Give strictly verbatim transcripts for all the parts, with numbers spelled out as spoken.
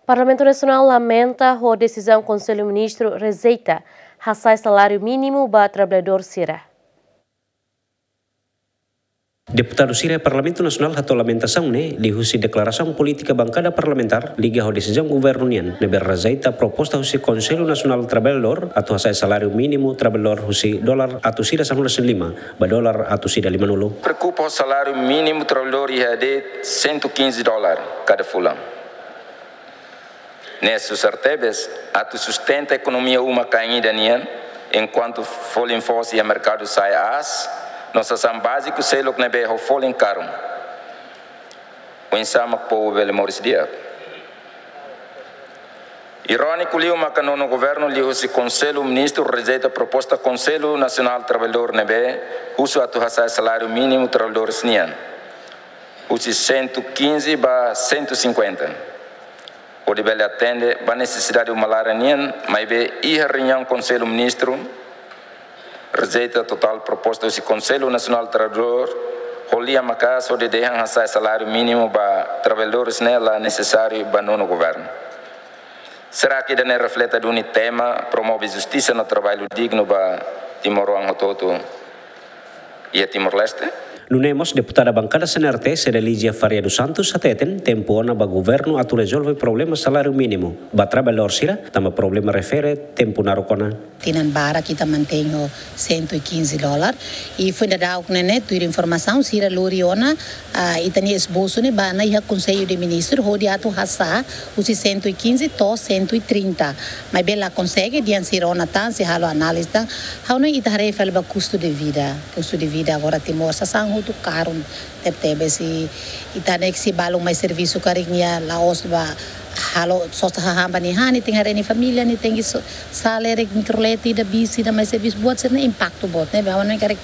Parlamentu Nasionál lamenta ho desizaun Konsellu Ministru rejeita hasa'e saláriu mínimu ba traballadór sira. Deputadu sira Parlamentu Nasionál hato'o lamentasaun ne'e liuhusi deklarasaun polítika bankada parlamentár liga ho desizaun governu nian ne'ebé rejeita proposta husi Konsellu Nasionál Traballadór atu hasa'e saláriu mínimu traballadór husi dolar atus ida sanulu-resin-lima ba dolar atus ida lima-nulu. Preokupa ho saláriu mínimu traballadór iha de'it cento e quinze dólar kada fulan. Ne'e susar tebes atu sustenta ekonomia uma-kain ida nian, enkuantu folin foos iha merkadu sa'e aas, no sasán báziku seluk ne'ebé ho folin karun. Oinsá mak povu bele moris di'ak? Iróniku liu maka nonu governu liuhusi Konsellu Ministru rejeita proposta Konsellu Nasionál Traballadór ne'ebé husu atu hasa'e saláriu mínimu traballadores nian husi cento e quinze ba cento e cinquenta, hodi bele atende ba nesesidade uma-laran nian, maibé iha reuniaun Konsellu Ministru rejeita totál proposta husi Konsellu Nasionál Traballadór, ho lia maka'as hodi dehan hasa'e saláriu mínimu ba traballadores ne'e la nesesáriu ba nonu governu. Será que ida-ne'e reflete duni tema promove justisa no traballu dignu ba timoroan hotu-hotu iha Timor-Leste? Nune'e mós deputada bankada C N R T, Cedelizia Faria dos Santos, hateten tempu ona ba governu atu rezolve problema saláriu mínimu ba traballadór sira, tanba problema refere tempu naruk ona. Tinan barak ita mantein ho cento e quinze dólar. I foin daudauk ne'e, tuir informasaun sira lori ona, ah, ita-nia esbosu ne'e ba ona iha Konsellu de Ministru hodi atu hasa'e husi cento e quinze to'o cento e trinta. Maibé la konsege, dehan sira ona tan, sei halo análize tan. Ha'u hanoin ita haree fali ba kustu de vida. Kustu de vida agora Timor sasán hotu karun tebetebes, i ita ne'e se balun mai servisu karik nia la'ós ba halo sosa hahán ba nia han, nia tenke haree nia família, nia tenke so-, sa'e leet mikrolet ida, bis ida mai servisu, buat sira-ne'e impaktu boot, ne'ebé ha'u hanoin karik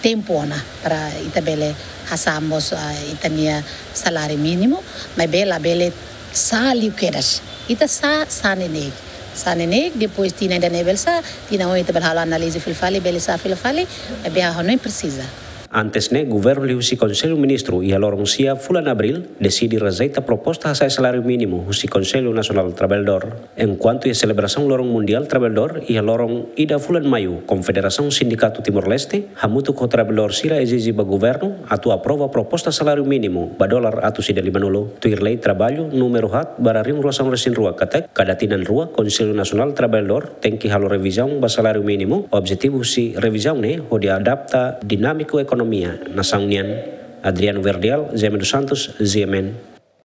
tempu ona para ita bele hasa'e mós, ah, ita-nia saláriu mínimu, maibé labele sa'e liu kedas. Ita sa'e, sa'e neineik. Sa'e neineik, depois tinan ida-ne'e bele sa'e, tinan oin ita bele halo análize fila fali, bele sa'e fila fali, maibé ha'u hanoin presiza. Antes ne'e, governu liuhusi Konsellu Ministru iha loron sia fulan Abríl deside rejeita proposta hasa'e saláriu mínimu husi Konsellu Nasionál Traballadór. Enkuantu iha selebrasaun Loron Mundiál Traballadór iha loron ida fulan Maiu, Konfederasaun Sindikatu Timor-Leste hamutuk ho traballadór sira ezije ba governu atu aprova proposta saláriu mínimu ba dolar atus ida lima-nulu. Tuir lei traballu númeru haat barra rihun rua sanulu-resin-rua katak, kada tinan rua Konsellu Nasionál Traballadór tenke halo revizaun ba saláriu mínimu. Objetivu husi revizaun ne'e hodi adapta dinámiku ekonomia nasaun nian. Adriano Verdial, Jaime dos Santos, G M N.